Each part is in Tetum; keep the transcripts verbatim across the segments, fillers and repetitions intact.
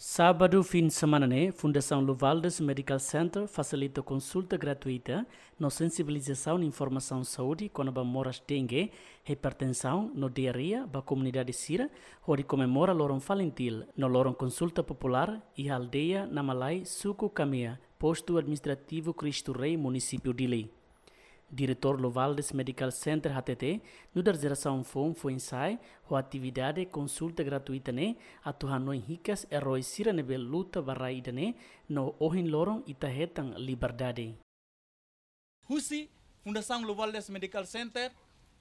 Sábadu fin semana ne'e, Fundasaun Luvaldes Medical Center fasilita konsulta gratuita no sensibilizasaun informasaun saúde kona-ba moras dengue, hipertensaun no diarreia ba komunidade sira, hodi komemora loron FALINTIL no loron konsulta populár iha aldeia Namalai, suku Kamea, postu administrativu Cristo Rei, munisípiu Dili. Diretór Luvaldes Medical Center hatete, nu'udar jerasaun foun foin-sa'e, ho atividade konsulta gratuita ne'e atu hanoin hikas erói sira ne'ebé luta ba rai ida-ne'e, no ohin loron ita hetan liberdade. Husi Fundasaun Luvaldes Medical Center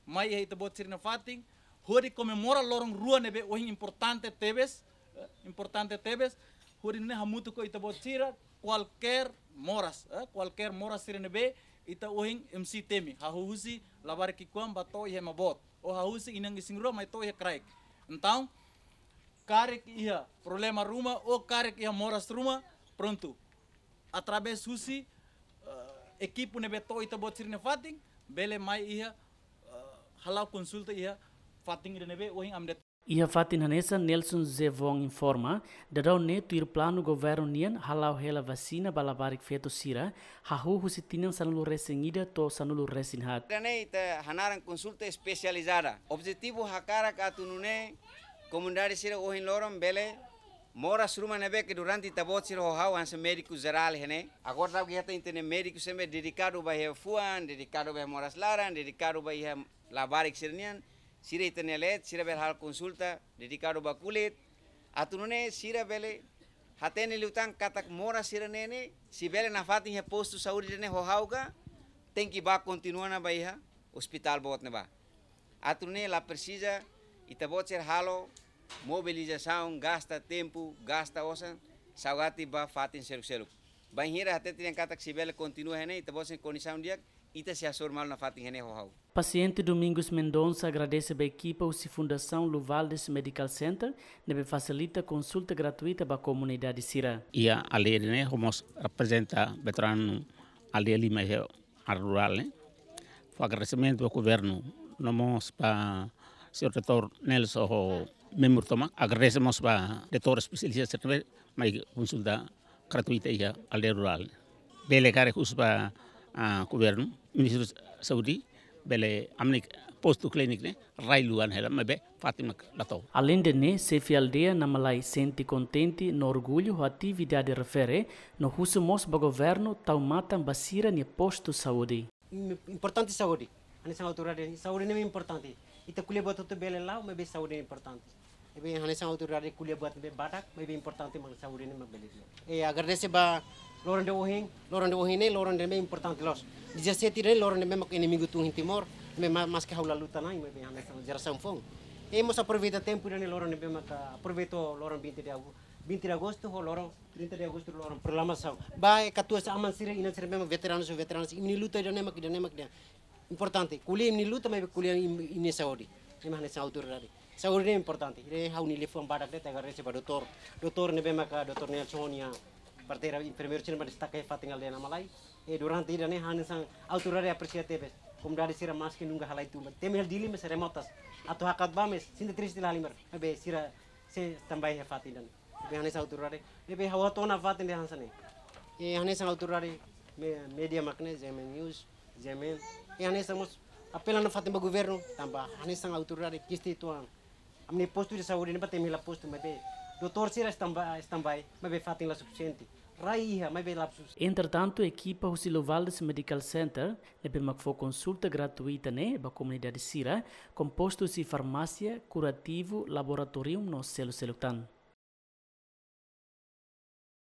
mai iha ita-boot sira-nia fatin, hodi komemora loron rua ne'ebé ohin importante tebes, eh, importante tebes, hodi nune'e hamutuk ho ita-boot sira, kualkér moras, eh, kualkér moras sira ne'ebé ita ohin M C temi, hahú husi labarik ki'ikoan ba to'o iha ema boot, ou hahú husi inan-isin rua mai to'o iha kraik. Entaun, karik iha problema ruma, ou karik iha moras ruma, prontu. Através husi, eh, ekipu ne'ebé to'o ita-boot sira-nia fatin, bele mai iha, eh, hala'o konsulta iha fatin ida ne'ebé ohin ami dehan. Iha fatin hanesan, Nelson Zevon informa, daudaun ne'e tuir planu governu nian hala'o hela vasina ba labarik feto sira, hahú husi tinan sanulu-resin-ida to'o sanulu-resin-haat. Ida-ne'e ita hanaran konsulta espesializada. Objetivu hakarak atu nune'e komunidade sira ohin loron bele moras ruma ne'ebé ke durante ita-boot sira ho ha'u hanesan médiku jerál iha ne'e. Agora daudaun ita iha ita-nia médiku sira ne'ebé dedikadu ba iha fuan, dedikadu ba iha moras laran, dedikadu ba iha labarik sira-nian, sira ita-nia leet, sira bele halo konsulta dedikadu ba kulit. Atu nune'e sira bele hatene liután katak moras sira-ne'e ne'e, se bele nafatin iha postu saúde ida-ne'e ho ha'u ka, tenke bá kontinua ona ba iha ospitál boot ne'ebá. Atu nune'e la presiza ita-boot sira halo mobilizasaun, gasta tempu, gasta osan, saugati ba fatin seluk-seluk. Bainhira hatete dehan katak se bele kontinua iha ne'e, ita-boot sira kondisaun di'ak, ita sei hasoru malu nafatin iha ne'e ho ha'u. Pasiente Domingos Mendonça agradese ba ekipa husi Fundasaun Luvaldes Medical Center ne'ebé fasilita konsulta gratuita ba komunidade sira. Iha aldeia ne'e, ha'u mós reprezenta veteranu aldeia lima iha área rurál ne'e. Fó agradesimentu ba governu, no mós ba señór doutór Nelson ho membru tomak. Agradese mós ba doutór espesialista sira ne'ebé mai konsulta gratuita iha aldeia rurál. Bele karik husu ba, ah, governu, Ministériu Saúde, bele ami-nia postu klíniku ne'e rai luan hela, maibé fatin mak la to'o. Aleinde ne'e, xefe aldeia Namalai sente kontente no orgullu ho atividade refere, no husu mós ba governu tau matan ba sira-nia postu saúde. Im-, importante saúde. Hanesan autoridade, saúde ne'e importante. Ita ko'alia buat hotu bele la'o, maibé saúde ne'e importante. Ne'ebé hanesan autoridade ko'alia buat ne'ebé badak, maibé importante mak saúde ne'e mak bele di'ak. E agradese ba loron ida ohin, loron ida ohin ne'e, loron ida ne'ebé importante loos. Dezassete ne'e loron ida ne'ebé mak inimigu tun iha Timor, ne'ebé ma-, maske ha'u la luta ona, maibé hanesan jerasaun foun. E mós aproveita tempu ida-ne'e, loron ida ne'ebé maka aproveita loron vinte de agosto, vinte de agosto ho loron trinta de agosto, loron proklamasaun. Ba e katuas aman sira, inan sira ne'ebé mak veteranu, veteranu, imi-nia luta ida-ne'e mak, ida-ne'e mak, ida-ne'e importante. Ko'alia imi-nia luta, maibé ko'alia imi, imi-nia saúde. Ne'e mak hanesan autoridade. Saúde ne'e importante. Ne'e ha'u-nia liafuan badak de'it, agradese ba doutór. Doutór ne'ebé maka doutór Nelson nia parteira enfermeiru sira mak destaka iha fatin aldeia Namalai. E durante ida-ne'e hanesan autoridade apresia tebes. Komunidade sira maske nunka halai tun ba. Temi hela Dili maibé remotas. Atu hakat bá maibé sente triste la halimar. Maibé sira sei standby iha fatin ida-ne'e. Ne'ebé hanesan autoridade, ne'ebé ha'u hato'o ona fatin ida hanesan ne'e. E hanesan autoridade, me-, média mak ne'e, G M N News, G M N. E hanesan mós apela nafatin ba governu, tanba hanesan autoridade ki'ik uitoan. Ami-nia postu de saúde ne'ebá temi hela postu, maibé doutór sira standby, standby, maibé fatin la sufisiente. Rai iha, maibé la sufisiente. Entretantu, ekipa husi Luvaldes Medical Center ne'ebé mak fó konsulta gratuita ne'e ba komunidade sira, kompostu husi farmásia, kurativu, laboratóriu no seluk-seluk tan.